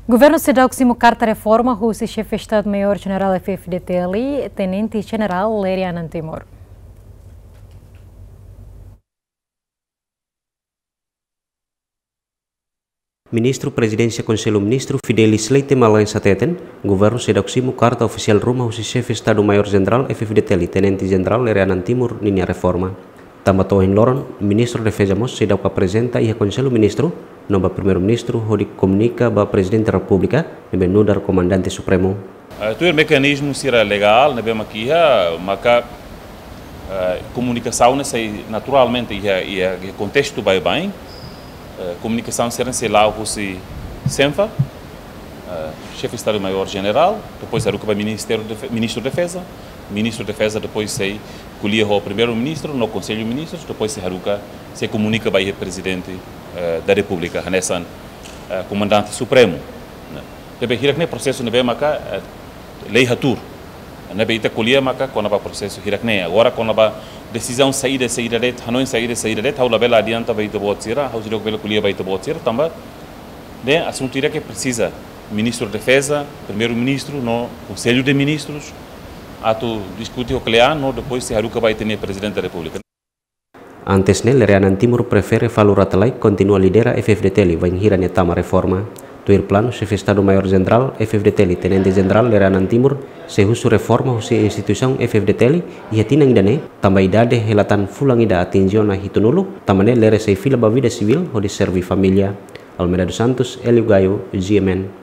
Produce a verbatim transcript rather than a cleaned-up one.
Governu seidauk simu karta reforma husi Xefe Estadu Maiór Jenerál F-FDTL, Tenente Jenerál Lere Anan Timur. Ministru Prezidénsia Konsellu Ministru Fidelis Leite Magalhães hateten, governu seidauk simu karta ofisiál ruma husi Xefe Estadu Maiór Jenerál F-FDTL, Tenente Jenerál Lere Anan Timur ninia reforma. Tanba to'o ohin loron, Ministru Defeza mós seidauk aprezenta iha Konsellu Ministru, no ba Primeiru-Ministru hodi komunika ba Prezidente Repúblika, ne'ebé nu'udar Komandante Supremu. Eh, tuir mekanizmu sira legál ne'ebé mak iha, maka, eh, komunikasaun ne'e sai naturalmente iha, iha, iha kontestu baibain. Eh, komunikasaun sira sei la'o husi Senfa, eh, Xefe Estadu Maiór Jenerál, depois haruka ba Ministériu Defe-, Ministru Defeza, Ministru Defeza depois sei ko'alia ho Primeiru-Ministru no Konsellu Ministrus, depois sei haruka, sei komunika ba iha Prezidente, eh, da Repúblika, hanesan, eh, Komandante Supremu, ne'e. Ne'ebé hirak-ne'e prosesu ne'ebé maka, eh, lei hatuur. Ne'ebé ita ko'alia maka kona-ba prosesu hirak-ne'e. Agora kona-ba desizaun saida, saida de'it, hanoin saida, saida de'it, ha'u labele adianta ba ita-boot sira, ha'u seidauk bele ko'alia ba ita-boot sira, tanba ne'e asuntu ida ke presiza Ministru Defeza, Primeiru-Ministru no Konsellu de Ministrus atu diskute ho kle'an no depois sei haruka ba ita-nia Prezidente da Repúblika. Antes ne'e, Lere Anan Timur prefere Falur Rate Laek kontinua lidera F-FDTL bainhira nia tama reforma. Tuir planu, Xefe Estadu Maiór Jenerál F-FDTL, Tenente Jenerál Lere Anan Timur, sei husu reforma husi instituisaun F-FDTL iha tinan ida-ne'e, tanba idade hela tan fulan ida atinje ona hitunulu, tanba ne'e Lere sei fila ba vida sivíl hodi serve família. Almeida dos Santos, Hélio Gaio, G M N.